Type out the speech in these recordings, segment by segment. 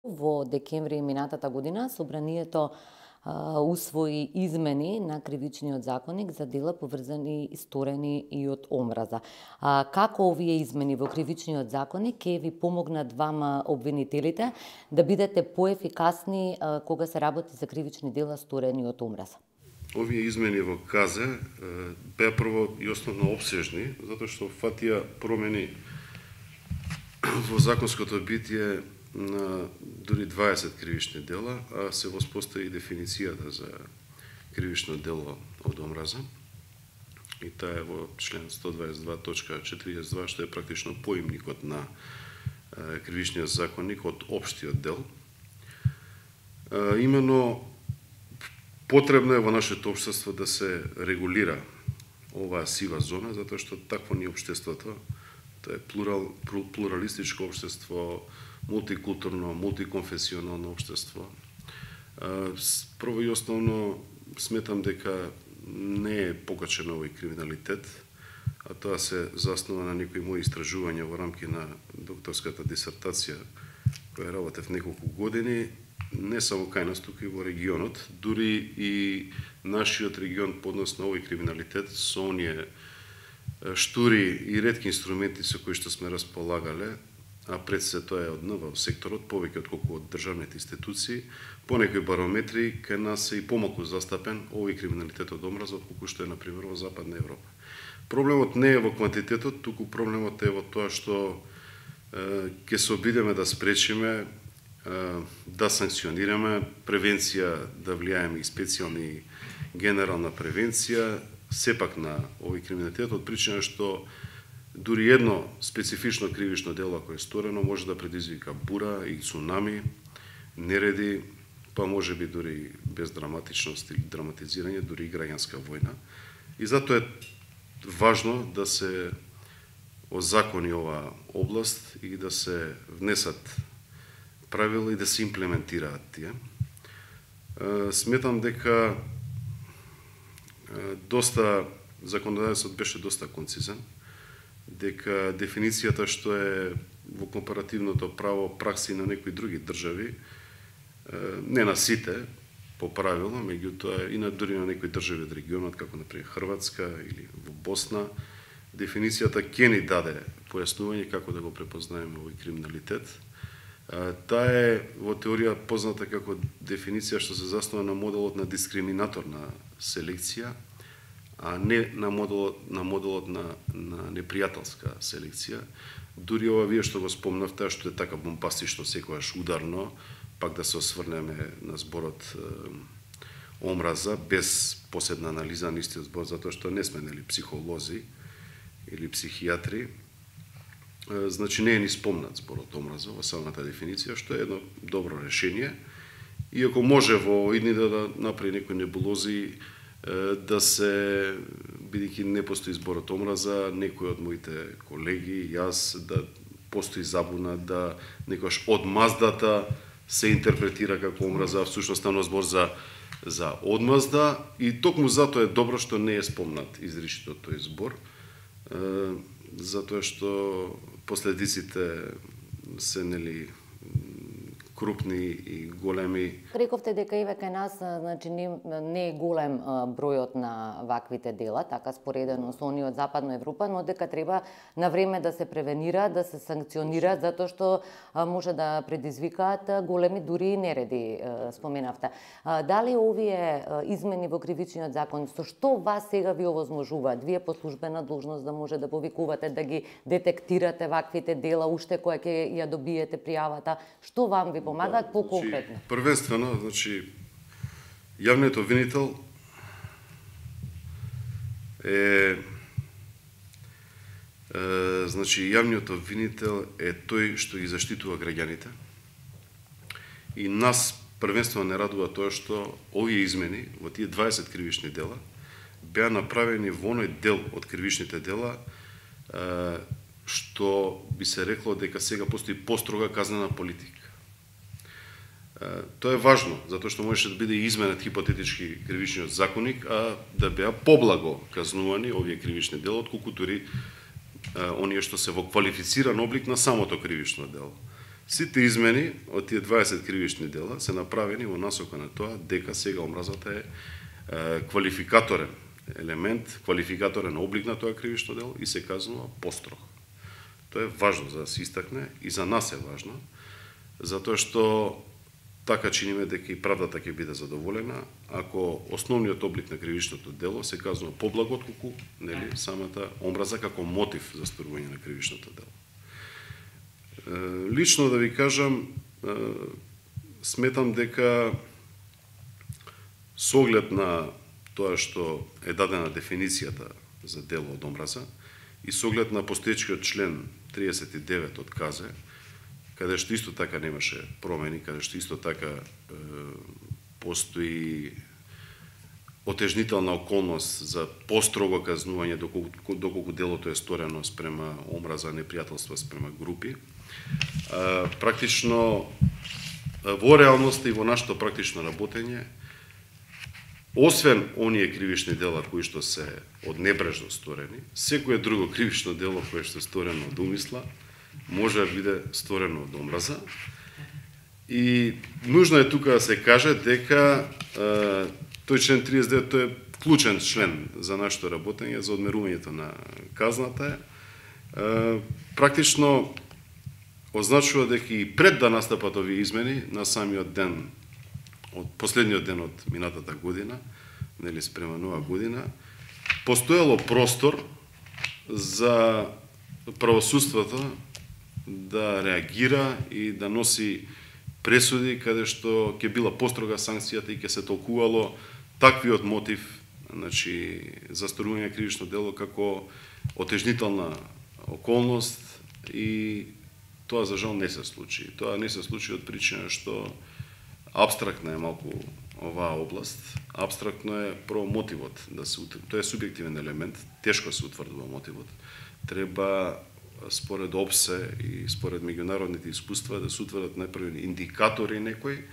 Во декември минатата година Собранието усвои измени на кривичниот законник за дела поврзани и сторени и од омраза. Како овие измени во кривичниот законник ќе ви помогнат вама обвинителите да бидете поефикасни кога се работи за кривични дела сторени од омраза? Овие измени во КЗ беа прво и основно обсежни, затоа што фатија промени во законското битие на дури 20 кривични дела, а се воспостави дефиницијата за кривично дело од омраза. И таа е во член 122.42, што е практично поимникот на кривичниот законник од општиот дел. Имено потребно е во нашето општество да се регулира оваа сива зона, затоа што такво ни општеството, тоа е плуралистичко општество, мултикултурно, мултиконфесионално општество. Прво и основно сметам дека не е покачен овој криминалитет, а тоа се заснова на некои мои истражувања во рамки на докторската дисертација која работев неколку години, не само кај нас, туку и во регионот, дури и нашиот регион по однос на овој криминалитет со оние штури и ретки инструменти со кои што сме располагале, а пред се тоа е од НВО секторот, повеќе отколку од државните институции, по некои барометри кај нас е и помалку застапен овој криминалитет од омраза, отколку што е, например, во Западна Европа. Проблемот не е во квантитетот, туку проблемот е во тоа што ќе се обидеме да спречиме, да санкционираме, превенција да влијаеме и специјални генерална превенција, сепак на овој криминалитет, од причина што дури едно специфично кривично дело ако е сторено може да предизвика бура и цунами, нереди, па може би дури без драматичност или драматизирање, дури и граѓанска војна. И затоа е важно да се озакони оваа област и да се внесат правила и да се имплементираат тие. Сметам дека законодавецот беше доста концизен, дека дефиницијата што е во компаративното право пракси на некои други држави, не на сите по правило, меѓутоа и на дури на некои држави од регионот, како например Хрватска или во Босна, дефиницијата ќе ни даде појаснување како да го препознаеме овој криминалитет. Таа е во теорија позната како дефиниција што се заснова на моделот на дискриминаторна селекција, а не на моделот на непријателска селекција. Дури ова вие што го спомнавте, што е така бомбастично, секогаш ударно, пак да се осврнеме на зборот омраза, без посебна анализа на истиот збор, затоа што не сме психолози или психијатри. Значи не е ни спомнат зборот омраза во самата дефиниција, што е едно добро решение. Иако може во идни да направи некои небулози, да се, бидејќи не постои зборот омраза, некои од моите колеги, јас, да постои забуна, да некојаш одмаздата се интерпретира како омраза, всушност станува збор за одмазда, и токму затоа е добро што не е спомнат изричито тој збор, затоа што последиците се крупни и големи. Рековте дека и кај нас значи не е голем бројот на ваквите дела, така споредено со оние од Западна Европа, но дека треба на време да се превенира, да се санкционира, затоа што може да предизвикаат големи дури и нереди, споменавте. Дали овие измени во кривичниот закон, со што вас сега ви овозможуваат? Вие по службена должност да може да повикувате, да ги детектирате ваквите дела, уште која ќе ја добиете пријавата, што вам ви помагаат по-конкретно? Првенствено, значи, јавниот обвинител е јавниот обвинител е тој што ги заштитува граѓаните. И нас првенствено не радува тоа што овие измени во тие 20 кривични дела беа направени во оној дел од кривичните дела што би се рекло дека сега постои построга казнена политика. Тоа е важно, затоа што можеше да биде изменет хипотетички кривичниот законник, а да беа поблаго казнувани овие кривични дела, отколку дури оние што се во квалифициран облик на самото кривично дело. Сите измени од тие 20 кривични дела се направени во насока на тоа дека сега омразата е квалификаторен елемент, квалификаторен облик на тоа кривично дело и се казнува построг. Тоа е важно за да се истакне и за нас е важно, затоа што така чиниме дека и правдата ќе биде задоволена ако основниот облик на кривичното дело се казнува поблаго отколку самата омраза како мотив за сторување на кривичното дело. Лично да ви кажам, сметам дека со оглед на тоа што е дадена дефиницијата за дело од омраза и со оглед на постоечкиот член 39 од КЗ, каде што исто така немаше промени, каде што исто така постои отежнителна околност за построго казнување доколку делото е сторено спрема омраза, непријателство спрема групи. Практично во реалноста и во нашето практично работење, освен оние кривични дела кои што се од небрежно сторени, секое друго кривично дело кое што е сторено од умисла може да биде сторено од омраза. И нужно е тука да се каже дека тој член 39 тој е клучен член за нашето работење, за одмерувањето на казната. Практично означува дека и пред да настапат овие измени на самиот ден, од последниот ден од минатата година, нели спрема нова година, постоело простор за правосудството да реагира и да носи пресуди каде што ќе била построга санкцијата и ќе се толкувало таквиот мотив, значи за сторување на кривично дело како отежнителна околност, и тоа за жал не се случи. Тоа не се случи од причина што апстрактна е малку оваа област. Апстрактно е прво мотивот, тоа е субјективен елемент, тешко се утврдува мотивот. Треба според ОПСЕ и според меѓународните искуства да се утврдат најпрви индикатори некои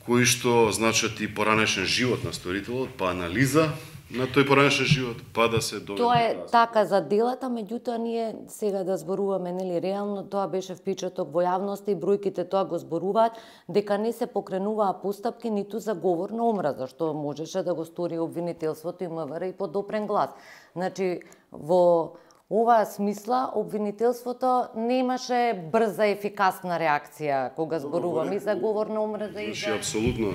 кои што значат и поранешен живот на сторителот, па анализа на тој поранешен живот, па да се доведе. Тоа е така за делата, меѓутоа ние сега да зборуваме, нели, реално тоа беше впечаток во јавноста и бројките тоа го зборуваат дека не се покренуваа постапки ниту за говор на омраза, што можеше да го стори обвинителството и МВР и по допрен глас. Значи во оваа смисла обвинителството немаше брза ефикасна реакција кога зборуваме и за говор на омраза и за... Апсолутно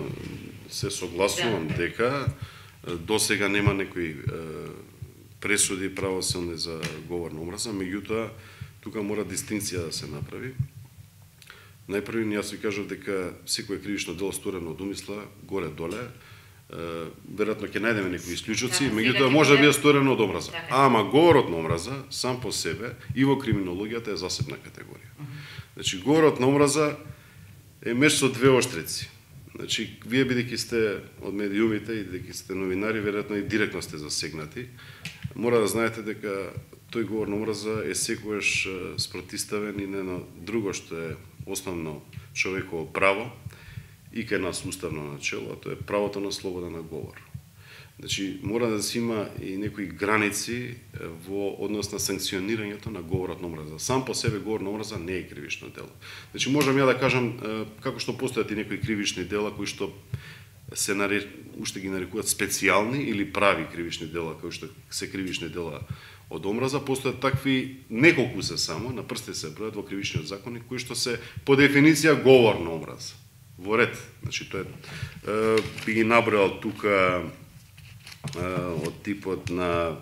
се согласувам дека до сега нема некои пресуди правосилни за говор на омраза, меѓутоа тука мора дистинкција да се направи. Најпрви јас ви кажав дека секое кривично дело сторено од умисла, горе-доле, веројатно ќе најдеме некои исклучоци, меѓутоа може да биде сторено од омраза. Ама говорот на омраза сам по себе и во криминологијата е засебна категорија. Значи говорот на омраза е меч со двеоштрици. Значи, вие бидејќи сте од медиумите и бидејќи сте новинари, веројатно и директно сте засегнати, мора да знаете дека тој говор на омраза е секогаш спротиставен и на друго што е основно човеково право и кај нас уставно начело, а тоа е правото на слобода на говор. Значи, мора да се има и некои граници во однос на санкционирањето на говорот на омраза. Сам по себе говор на омраза не е кривично дело. Значи, можам ја да кажам како што постојат и некои кривични дела кои што уште ги нарекуваат специјални или прави кривични дела, кои што се кривични дела од омраза, постојат такви неколку се само, на прсти се бројат во кривичниот законник, кои што се по дефиниција говор на омраза. Во ред. Значи, тоа би ги набројал тука од типот на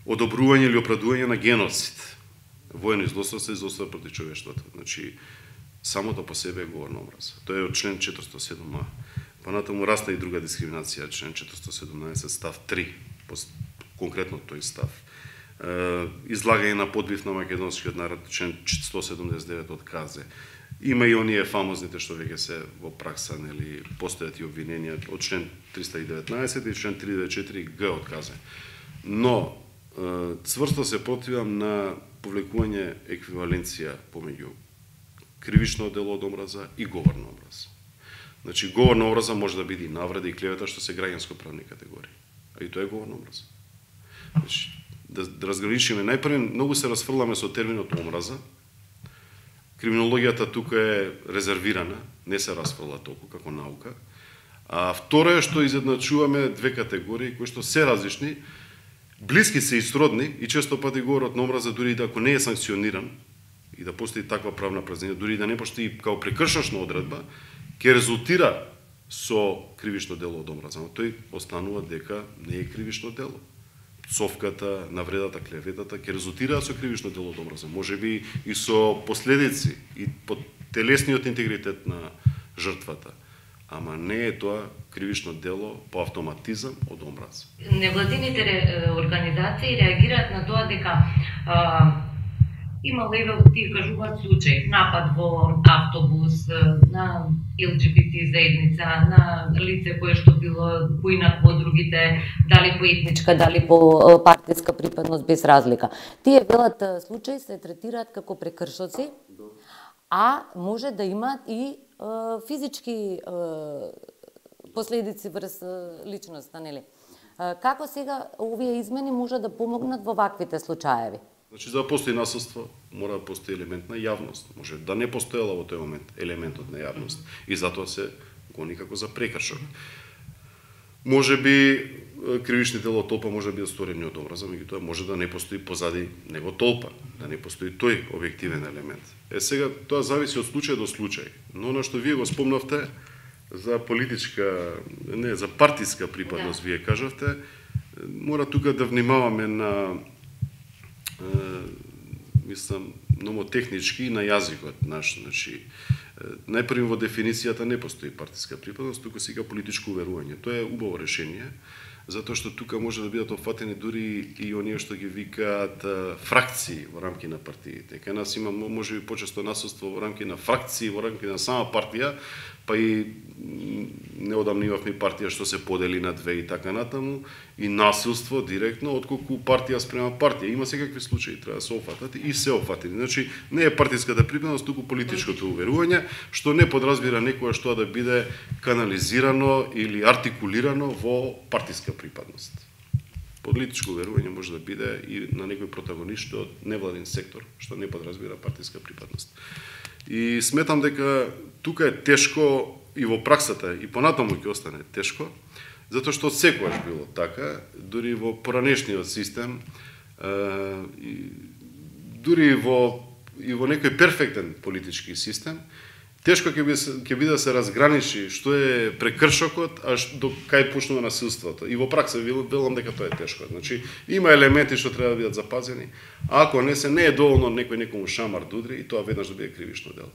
одобрување или оправдување на геноцид, воено злословство и злословство против човештвото. Значи, самото по себе е говор на омраза. Тоа е од член 407а. Понатаму расна и друга дискриминација, член 417 став 3, конкретно тој став. Излагање на подбив на македонскиот народ, член 179 од КЗ. Има и оние фамозните што веќе се во пракса, нели, постојат и обвиненија од член 319 и член 394 Г од КЗ. Но цврсто се противам на повлекување еквиваленција помеѓу кривично дело од омраза и говор на омраза. Значи, говор на омраза може да биде и навреда и клевета, што се граѓанско правни категории. А и тоа е говор на омраза. Значи, да разграничиме. Најпрво многу се расфрламе со терминот омраза. Криминологијата тука е резервирана, не се расфрла толку како наука. А второ е што изедначуваме две категории кои што се различни, блиски се и сродни и често пати говорат на омраза дури и да ако не е санкциониран и да постои таква правна празнина, дури и да не постои као прекршочна одредба, ќе резултира со кривично дело од омраза. Но тој останува дека не е кривично дело. Пцовката, навредата, клеветата ќе резултираат со кривично дело од омраза. Можеби и со последици и по телесниот интегритет на жртвата. Ама не е тоа кривично дело по автоматизам од омраза. Невладините организации реагираат на тоа дека имало еве тие кажуваат случај, напад во автобус на ЛГБТ заедница, на лице кое што било поинакво од другите, дали по етничка, дали по партиска припадност, без разлика. Тие велат случаи се третираат како прекршоци, а може да имаат и физички последици врз личноста, нели? Како сега овие измени може да помогнат во ваквите случаеви? Значи, за да постои насилство, мора да постои елемент на јавност. Може да не постоела во тој момент елементот на јавност. И затоа се гони како за прекршок. Може би кривични дела од толпа може да бидат сторени од омраза, меѓутоа може да не постои позади него толпа, да не постои тој објективен елемент. Сега тоа зависи од случај до случај, но на што вие го спомнавте за политичка, не, за партиска припадност, вие кажавте, мора тука да внимаваме на мислам номотехнички и на јазикот наш, значи најпрво во дефиницијата не постои партиска припадност, тука сега политичко уверување. Тоа е убаво решение, затоа што тука може да бидат опфатени дури и оние што ги викаат фракции во рамки на партиите. Кај нас има можеби почесто насилство во рамки на фракции, во рамки на сама партија, па и неодамна имавме партија што се подели на две и така натаму, и насилство директно, отколку партија спрема партија. Има секакви случаи, треба да се опфатат и се опфатени. Значи, не е партиската припадност, туку политичкото уверување, што не подразбира некојаш тоа да биде канализирано или артикулирано во партиска припадност. Политичко уверување може да биде и на некој протагонист од невладин сектор, што не подразбира партиска припадност. И сметам дека тука е тешко и во праксата, и понатаму ќе остане тешко, затоа што секогаш било така, дури во поранешниот систем, дури и во некој перфектен политички систем, тешко ќе биде да се разграничи што е прекршокот, а до кај почнува насилството. И во пракса велам дека тоа е тешко. Значи, има елементи што треба да бидат запазени, а ако не е доволно некој некому шамар да удри и тоа веднаш да биде кривично дело.